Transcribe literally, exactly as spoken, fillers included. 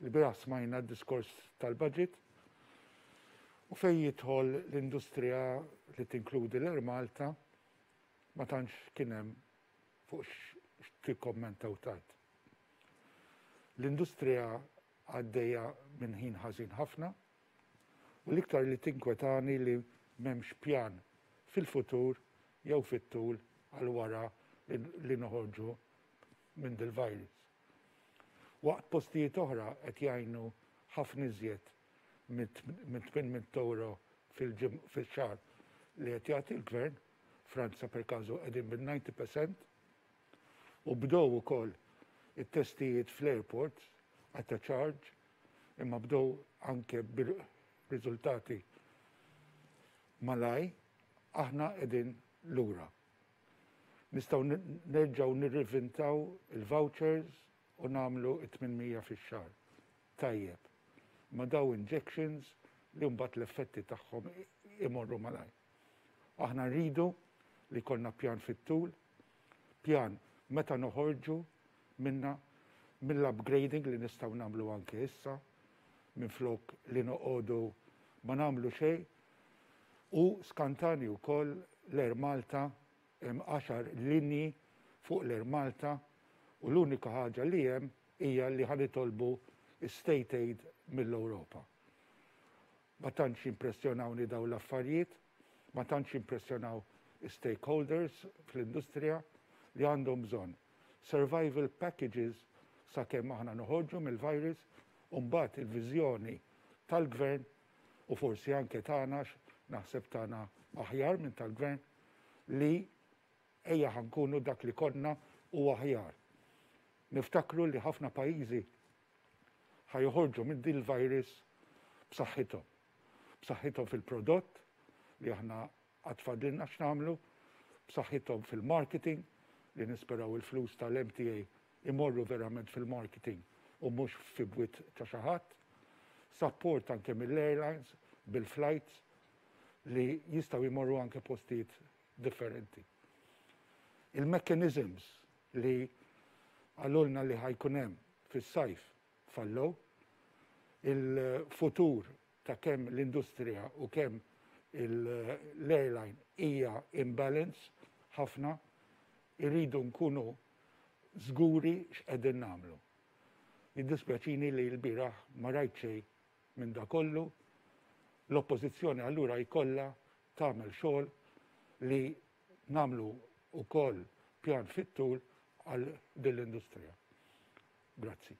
Ilbieraħ smajna d-diskors tal-budget u fejn jidħol l-industrija li tinkludi l-Air Malta ma tantx kien hemm fuq x'tikkommenta u tgħid. L-industrija għaddejja minn ħin ħażin ħafna u l-iktar li tinkwetani li m'hemmx pjan fil-futur jew fit-tul għal wara li noħorġu minn dil-virus. Waqt postijiet oħra qed jgħinu ħafna iżjed minn tmien mitt euro fil-xahar li qed jagħti l-gvern. Franza per każu qegħdin bil-disgħin fil-mija u bdew ukoll it-testijiet fl-airports at a charge, imma bdew anke bir-riżultati malajr, aħna qegħdin lura. Nistgħu nerġgħu nirrivintaw il-vouchers u nagħmlu tmien mija fix-xahar. Tajjeb. Ma daw injections li mbagħad l-effetti tagħhom imorru malajr. Aħna rridu li jkollna pjan fit-tul, pjan meta noħorġu minna, mill-upgrading li nistgħu nagħmlu anke issa, minn flok li noqogħdu ma nagħmlu xejn. U skantani wkoll l-Air Malta, hemm għaxar linji fuq l-Air Malta u l-unika ħaġa li hemm hija li ħa nitolbu state aid mill-Ewropa. Ma tantx impressjonawni daw l-affarijiet, ma tantx impressjonaw stakeholders fl-industrija li għandhom bżonn survival packages sakemm aħna noħorġu mill-virus u mbagħad il-viżjoni tal-gvern u forsi anke tagħna, naħseb tagħna aħjar minn tal-gvern, li ejja ħa nkunu dak li konna u aħjar. Niftakru li ħafna pajjiżi ħa joħorġu minn dil virus b'saħħithom. B'saħħithom fil-prodott li aħna għad fadlilna x'nagħmlu, b'saħħithom fil-marketing li nisperaw il-flus tal-M T A imorru verament fil-marketing u mhux fi bwiet ta' xi ħadd, support anke mill-airlines bil-flights li jistgħu jmorru anke postijiet differenti. Il-mechanisms li qalulna li ħa jkun hemm fis-sajf fallow, il-futur ta' kemm l-industrija u kemm l-airline hija imbalance ħafna, irridu nkunu żguri x'qegħdin nagħmlu. Jiddispjaċini li l-bieraħ ma rajt xejn minn da kollu. L-oppożizzjoni allura jkollha tagħmel xogħol li nagħmlu ukoll pjan fit-tul għal din l-industrija. Grazzi.